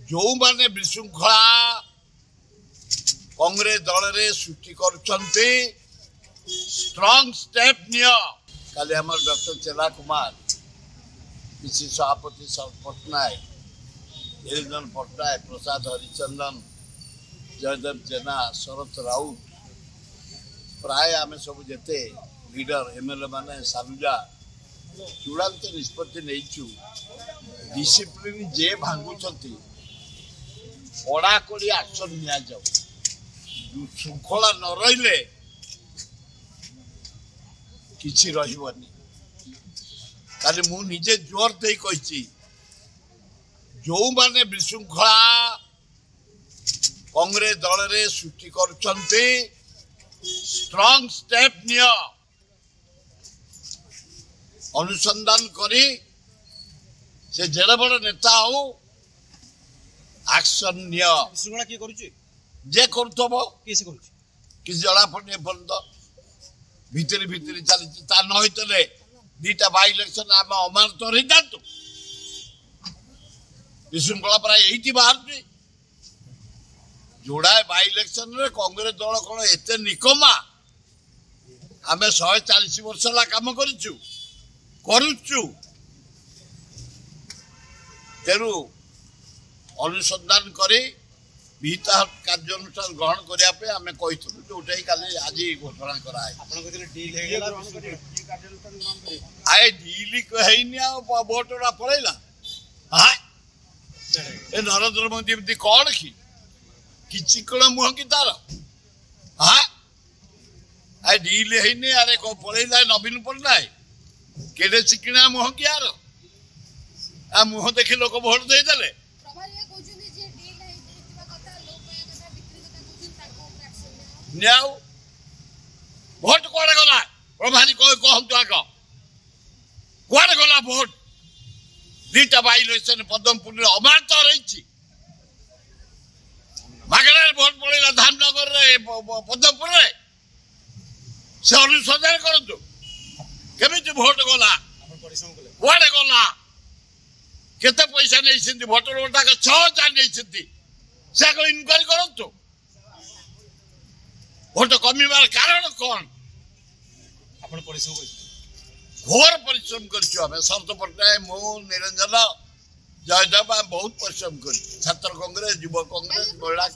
ଯେଉଁମାନେ ବିଶୃଙ୍ଖଳା କଂଗ୍ରେସ ଦଳରେ ସୃଷ୍ଟି କରୁଛନ୍ତି, ଷ୍ଟ୍ରଙ୍ଗ ଷ୍ଟେପ୍ ନିଅ। କାଲି ଆମର ଡକ୍ଟର ଚେଲା କୁମାର, ପିସି ସଭାପତି ପଟ୍ଟନାୟକ, ନିରଞ୍ଜନ ପଟ୍ଟନାୟକ, ପ୍ରସାଦ ହରିଚନ୍ଦନ, ଜୟଦେବ ଜେନା, ଶରତ ରାଉତ, ପ୍ରାୟ ଆମେ ସବୁ ଯେତେ ଲିଡର ଏମଏଲଏ ମାନେ, ସାଲୁଜା, ଚୂଡ଼ାନ୍ତ ନିଷ୍ପତ୍ତି ନେଇଛୁ। ଡିସିପ୍ଲିନ ଯେ ଭାଙ୍ଗୁଛନ୍ତି, କଡ଼ାକଡ଼ି ଆକ୍ସନ ନିଆଯାଉ। ଶୃଙ୍ଖଳା ନ ରହିଲେ କିଛି ରହିବନି। କାଲି ମୁଁ ନିଜେ ଜୋର ଦେଇ କହିଛି, ଯେଉଁମାନେ ବିଶୃଙ୍ଖଳା କଂଗ୍ରେସ ଦଳରେ ସୃଷ୍ଟି କରୁଛନ୍ତି, ଷ୍ଟ୍ରଙ୍ଗ ଷ୍ଟେପ୍ ନିଅ। ଅନୁସନ୍ଧାନ କରି ସେ ଯେଡ଼େ ବଡ଼ ନେତା ହଉ, ଆକ୍ସନ ନିଅ। ବିଶୃଙ୍ଖଳା କିଏ କରୁଛି? ଯେ କରୁଥିବ। କିଏ ସେ କରୁଛି? କିଛି ଜଣାପଡ଼ୁନି ଏପର୍ଯ୍ୟନ୍ତ, ଭିତରେ ଭିତରେ ଚାଲିଛି। ତା ନ ହେଇଥିଲେ 2ଟା ବାଇ ଇଲେକ୍ସନ ଆମେ ଅମାନତ ରହିଥାନ୍ତୁ। ବିଶୃଙ୍ଖଳା ପ୍ରାୟ ଏଇଠି ବାହାରୁଛି। ଯୋଡ଼ାଏ ବାଇ ଇଲେକ୍ସନରେ କଂଗ୍ରେସ ଦଳ କ'ଣ ଏତେ ନିକମା? ଆମେ 140 ବର୍ଷ ହେଲା କାମ କରିଛୁ, କରୁଛୁ। ତେଣୁ ଅନୁସନ୍ଧାନ କରି ବିହିତ କାର୍ଯ୍ୟାନୁଷ୍ଠାନ ଗ୍ରହଣ କରିବା ପାଇଁ ଆମେ କହିଥିଲୁ, ଯୋଉଟାକି କାଲି ଆଜି ଘୋଷଣା କରାହେଇଛି। ଆପଣ କହିଥିଲେ ଡିଲ୍ ହେଇଗଲା। ଆଏ, ଡିଲ୍ ହେଇନି, ଆଉ ଭୋଟ ଗୁଡ଼ା ପଳେଇଲା। ହଁ, ଏ ନରେନ୍ଦ୍ର ମୋଦି ଏମିତି କ'ଣ କି କିଛି କଣ ମୁହଁ କି ତାର? ହଁ, ଆ ଡିଲ୍ ହେଇନି, ଆରେ ପଳେଇଲା ନବୀନ ପଟ୍ଟନାୟକ। କେଡ଼େ ଚିକିଣା ମୁହଁ କି ଆର? ଆ ମୁହଁ ଦେଖି ଲୋକ ଭୋଟ ଦେଇଦେଲେ। ନିଆଉ, ଭୋଟ କୁଆଡ଼େ ଗଲା? ପ୍ରଭାରୀ କହନ୍ତୁ ଆଗ, କୁଆଡ଼େ ଗଲା ଭୋଟ? 2ଟା ବାଇ ଇଲେକ୍ସନ ପଦ୍ମପୁରରେ ଅମାନ୍ତ ରହିଛି, ମାଗଣାରେ ଭୋଟ ପଳେଇଲା ଧାମନଗରରେ, ପଦ୍ମପୁରରେ। ସେ ଅନୁସନ୍ଧାନ କରନ୍ତୁ କେମିତି ଭୋଟ ଗଲା, କୁଆଡ଼େ ଗଲା, କେତେ ପଇସା ନେଇଛନ୍ତି। ଭୋଟର ଗୋଟାକ 6000 ନେଇଛନ୍ତି, ସେ ଆଗ ଇନକ୍ୱାରି କରନ୍ତୁ। ଭୋଟ କମିବାର କାରଣ କ'ଣ? ଆପଣ ପରିଶ୍ରମ କରିଛନ୍ତି? ଘୋର ପରିଶ୍ରମ କରିଛୁ ଆମେ, ଶରତ ପଟ୍ଟନାୟକ, ମୁଁ, ନିରଞ୍ଜନ, ଜୟଦେବ, ଆମେ ବହୁତ ପରିଶ୍ରମ କରିଛୁ। ଛାତ୍ର କଂଗ୍ରେସ, ଯୁବ କଂଗ୍ରେସ, ମହିଳା।